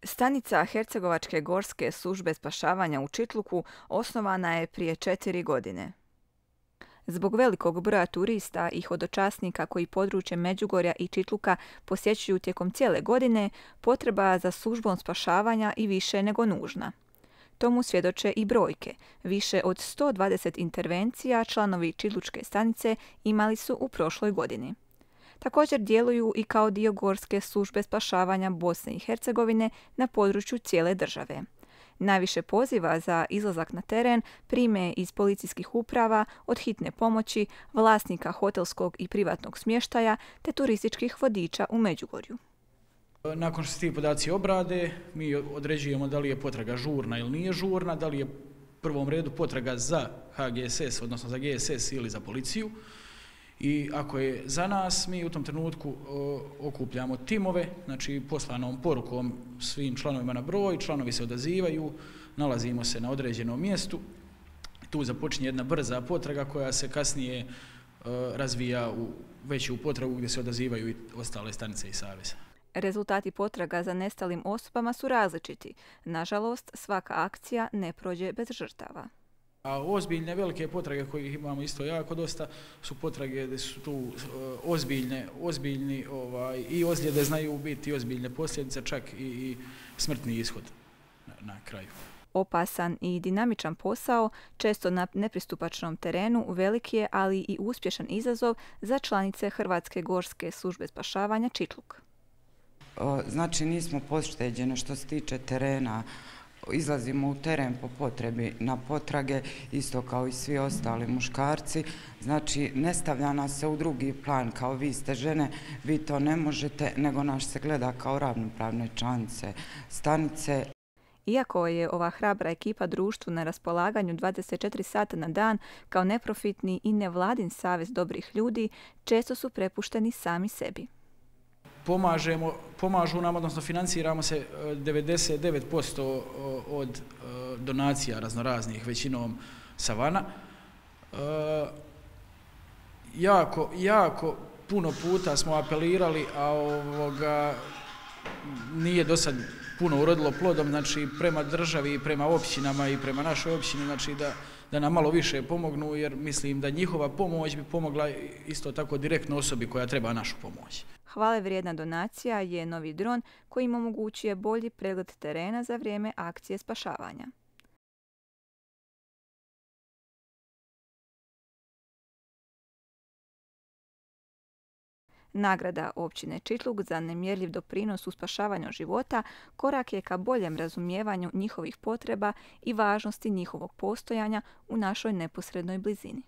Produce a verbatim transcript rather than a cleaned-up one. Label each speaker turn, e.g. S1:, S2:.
S1: Stanica Hercegovačke gorske službe spašavanja u Čitluku osnovana je prije četiri godine. Zbog velikog broja turista i hodočasnika koji područje Međugorja i Čitluka posjećuju tijekom cijele godine, potreba za službom spašavanja i više nego nužna. Tomu svjedoče i brojke. Više od sto dvadeset intervencija članovi Čitlučke stanice imali su u prošloj godini. Također djeluju i kao dio Gorske službe spašavanja Bosne i Hercegovine na području cijele države. Najviše poziva za izlazak na teren prime iz policijskih uprava, od hitne pomoći, vlasnika hotelskog i privatnog smještaja te turističkih vodiča u Međugorju.
S2: Nakon što se ti podaci obrade, mi određujemo da li je potraga žurna ili nije žurna, da li je u prvom redu potraga za H G S S, odnosno za G S S ili za policiju. I ako je za nas, mi u tom trenutku o, okupljamo timove, znači poslanom porukom svim članovima na broj, članovi se odazivaju, nalazimo se na određenom mjestu. Tu započinje jedna brza potraga koja se kasnije o, razvija u veću potragu gdje se odazivaju i ostale stanice i saveza.
S1: Rezultati potraga za nestalim osobama su različiti. Nažalost, svaka akcija ne prođe bez žrtava.
S2: A ozbiljne velike potrage koje imamo isto jako dosta su potrage gdje su tu ozbiljne, ozbiljni ovaj, i ozljede znaju biti ozbiljne posljedice, čak i, i smrtni ishod na, na kraju.
S1: Opasan i dinamičan posao, često na nepristupačnom terenu, veliki je, ali i uspješan izazov za članice Hrvatske gorske službe spašavanja Čitluk.
S3: Znači nismo pošteđeni što se tiče terena. Izlazimo u teren po potrebi na potrage, isto kao i svi ostali muškarci. Znači, ne stavlja nas se u drugi plan kao vi ste žene, vi to ne možete, nego nas se gleda kao ravnopravne članice stanice.
S1: Iako je ova hrabra ekipa društvu na raspolaganju dvadeset četiri sata na dan kao neprofitni i nevladin savez dobrih ljudi, često su prepušteni sami sebi.
S2: Pomažemo, pomažu nam, odnosno financiramo se devedeset devet posto od donacija raznoraznih, većinom savana. Jako, jako puno puta smo apelirali, a ovoga nije do sad puno urodilo plodom, znači prema državi, prema općinama i prema našoj općini, znači da, da nam malo više pomognu, jer mislim da njihova pomoć bi pomogla isto tako direktno osobi koja treba našu pomoć.
S1: Hvale vrijedna donacija je novi dron koji im omogućuje bolji pregled terena za vrijeme akcije spašavanja. Nagrada općine Čitluk za nemjerljiv doprinos u spašavanju života korak je ka boljem razumijevanju njihovih potreba i važnosti njihovog postojanja u našoj neposrednoj blizini.